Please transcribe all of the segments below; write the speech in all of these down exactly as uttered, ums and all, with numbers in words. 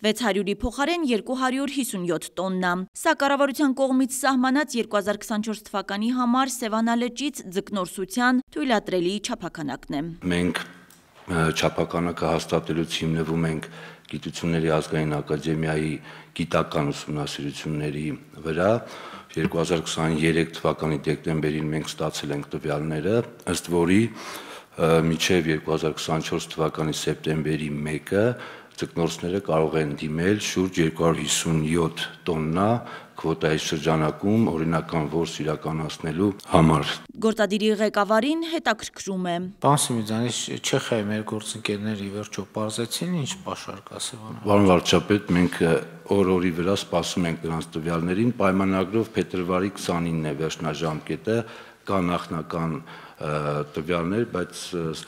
վեց հարյուրի փոխարեն երկու հարյուր հիսունյոթ տոննա։ Սա կառավարության կողմից սահմանած երկու հազար քսանչորս թվականի համար Սևանալճից ձկնորսության թույլատրելի չափաքանակն է։ Մենք չափականակը հաստատելուց հիմնվում ենք Գիտությունների ազգային ակադեմիայի գիտական ուսումնասիրությունների վրա։ երկու հազար քսաներեք թվականի դեկտեմբերին մենք ստացել ենք տվյալները, ըստ որի մինչև երկու հազար քսանչորս թվականի սեպտեմբերի մեկը ձկնորսները կարող են դիմել շուրջ երկու հարյուր հիսունյոթ տոննա քվոտայի շրջանակում օրինական որս իրականացնելու համար։ Գործադիրի ղեկավարին հետաքրքրում է։ Պարոն Սիմիձյանի, Չեխիայի մեր գործընկերները ի վերջո պարզեցին ինչ պաշար կա Սևանալի։ Պարոն վարչապետ, մենք օր-օրի վրա սպասում ենք նրանց տվյալներին, պայմանագրով փետրվարի քսանինն է վերջնաժամկետը, կա նախնական տվյալներ, բայց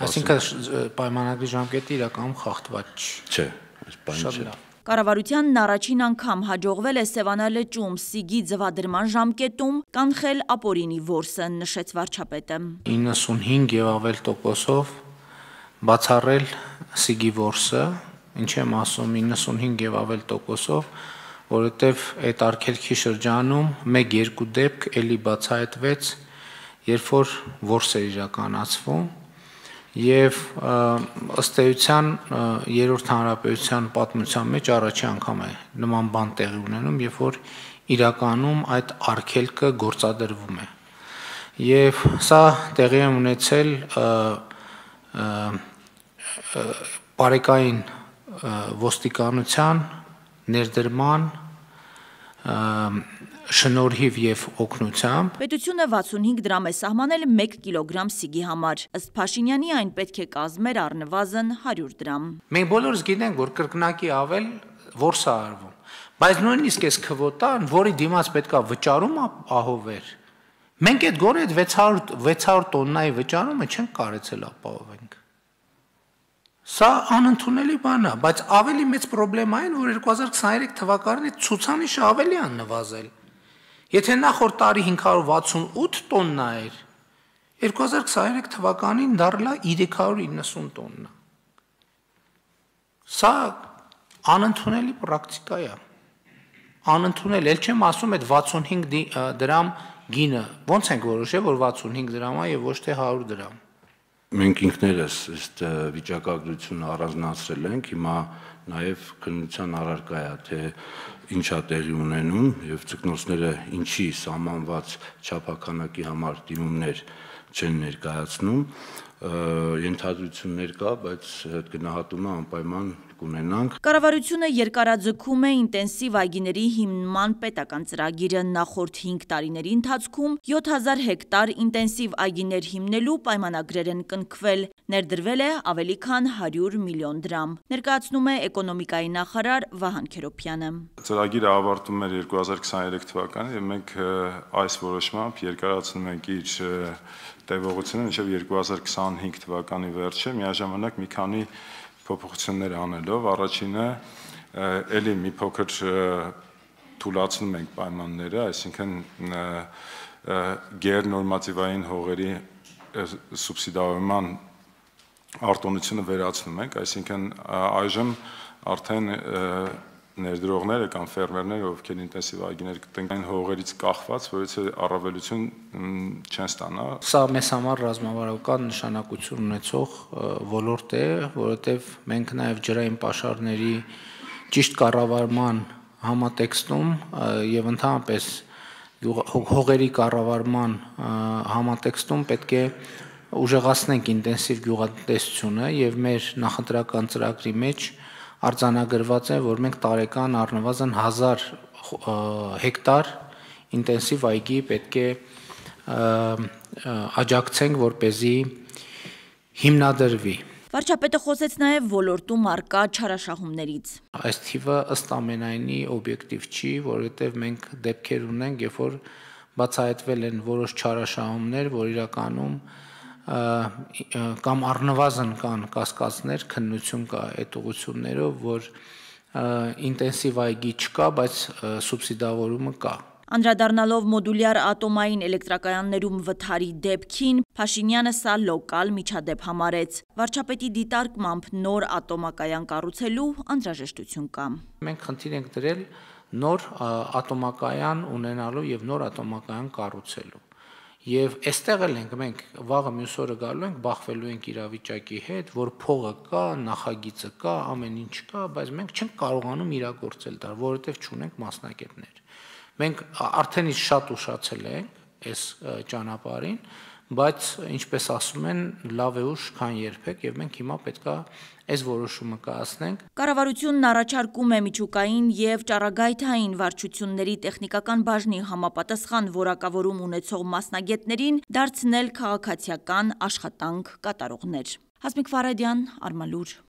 Այսինքն պայմանագրի ժամկետը իրականում խախտված չէ, այս բանը չէ։ Կառավարությանն առաջին անգամ հաջողվել է Սևանալճում սիգի ձվադրման ժամկետում կանխել ապօրինի որսը, նշեց վարչապետը։ իննսունհինգ եւ ավել տոկոսով բացառել սիգի որսը, ինչ եմ ասում իննսունհինգ եւ ավել տոկոսով, որովհետեւ այդ արգելքի շրջանում մեկ-երկու դեպք էլի բացահայտվեց, երբ որ որս է իրականացվում եւ ըստ էության երրորդ հանրապետության պատմության մեջ առաջի անգամ է նման բան տեղի ունենում, երբ որ իրականում այդ արգելքը գործադրվում է։ Եվ սա տեղի է ունեցել բարեկային ոստիկանության ներդրման շնորհիվ եւ օգնությամբ Պետությունը վաթսունհինգ դրամ է սահմանել մեկ կիլոգրամ սիգի համար, ըստ Փաշինյանի այն պետք է կազմեր առնվազն հարյուր դրամ։ Մենք բոլորս գիտենք, որ կրկնակի ավել որս է արվում, բայց նույնիսկ այս քվոտան, որի դիմաց պետքա վճարում ահովեր, մենք այդ գոնե վեց հարյուր տոննայի վճարումը չենք կարեցել ապահովենք։ Սա անընդունելի բան է, բայց ավելի մեծ պրոբլեմա այն, որ երկու հազար քսաներեք թվականին ցուցանիշը ավելի է նվազել։ Եթե նախորդ տարի հինգ հարյուր վաթսունութ տոննա էր, երկու հազար քսաներեք թվականին դառնա երեք հարյուր իննսուն տոննա։ Սա անընդունելի պրակտիկա է։ Անընդունել, ել չեմ ասում այդ վաթսունհինգ դրամ գինը, ոնց ենք որոշել, որ վաթսունհինգ դրամ է եւ ոչ թե հարյուր դրամ։ Մենք ինքներս այդ վիճակագրությունը առանձնացրել ենք, հիմա նաև քննության առարկա է, թե ինչ է տեղի ունենում եւ ձկնորսները ինչի սահմանված չափականակի համար դիմումներ չեն ներկայացնում, ենթադրություններ կա, բայց այդ գնահատումը անպայման կունենանք։ Կառավարությունը երկարաձգում է ինտենսիվ այգիների հիմնման պետական ծրագիրը, նախորդ հինգ տարիների ընթացքում յոթ հազար հեկտար ինտենսիվ այգիներ հիմնելու պայմանագրեր են կնքվել, ներդրվել է ավելի քան հարյուր միլիոն դրամ, ներկայացնում է էկոնոմիկայի նախարար Վահան Քերոբյանը։ Ծրագիրը ավարտվում էր երկու հազար քսաներեք թվականին եւ մենք այս որոշմամբ երկարացնում ենք իր տևողությունը մինչև երկու հազար քսանհինգ թվականի վերջը, միաժամանակ մի քանի փոփոխություններ անելով, առաջինը էլի մի փոքր թույլատնում ենք պայմանները, այսինքն գերնորմատիվային հողերի սուբսիդավորման արտոնությունը վերացնում ենք, այսինքն այժմ արդեն ներդրողները կամ ֆերմերները, ովքեր ինտենսիվ այգիներ կտնեն այն հողերից կախված, որից առավելություն չեն ստանա։ Սա մեզ համար ռազմավարական նշանակություն ունեցող ոլորտ է, որովհետև մենք նաև ջրային պաշարների ճիշտ կառավարման համատեքստում եւ ընդհանրապես հողերի կառավարման համատեքստում պետք է ուժեղացնենք ինտենսիվ գյուղատնտեսությունը եւ մեր նախընտրական ծրագրի մեջ արձանագրված է, որ մենք տարեկան առնվազն հազար հեկտար ինտենսիվ այգի պետք է աջակցենք, որպեսզի հիմնադրվի։ Վարչապետը խոսեց նաև ոլորտում առկա չարաշահումներից։ Այս թիվը ըստ ամենայնի օբյեկտիվ չի, որովհետև մենք դեպքեր ունենք, երբ որ բացահայտվել են որոշ չարաշահումներ, որ իրականում կամ առնվազն կան կասկածներ, քննություն կա այդ ուղղություններով, որ ինտենսիվ այգի չկա, բայց սուբսիդավորումը կա։ Անդրադառնալով մոդուլյար ատոմային էլեկտրակայաններում վթարի դեպքին, Փաշինյանը սա լոկալ միջադեպ համարեց։ Վարչապետի դիտարկմամբ նոր ատոմակայան կառուցելու անհրաժեշտություն կա։ Մենք խնդիր ենք դրել նոր ատոմակայան ունենալու եւ նոր ատոմակայան կառուցելու։ Եվ այստեղ էլ ենք մենք վաղը մյուս օրը գալու ենք, բախվելու ենք իրավիճակի հետ, որ փողը կա, նախագիծը կա, ամեն ինչ կա, բայց մենք չենք կարողանում իրագործել դա, որովհետև չունենք մասնագետներ։ Մենք արդեն իսկ շատ ուշացել ենք այս ճանապարհին, բայց ինչպես ասում են, լավ է ուշ, քան երբեք, եւ մենք հիմա պետքա այս որոշումը կայացնենք։ Կառավարությունն առաջարկում է միջուկային եւ ճառագայթային վարչությունների տեխնիկական բաժնի համապատասխան որակավորում ունեցող մասնագետներին դարձնել քաղաքացիական աշխատանք կատարողներ։ Հասմիկ Ֆարադյան, Արմալուր։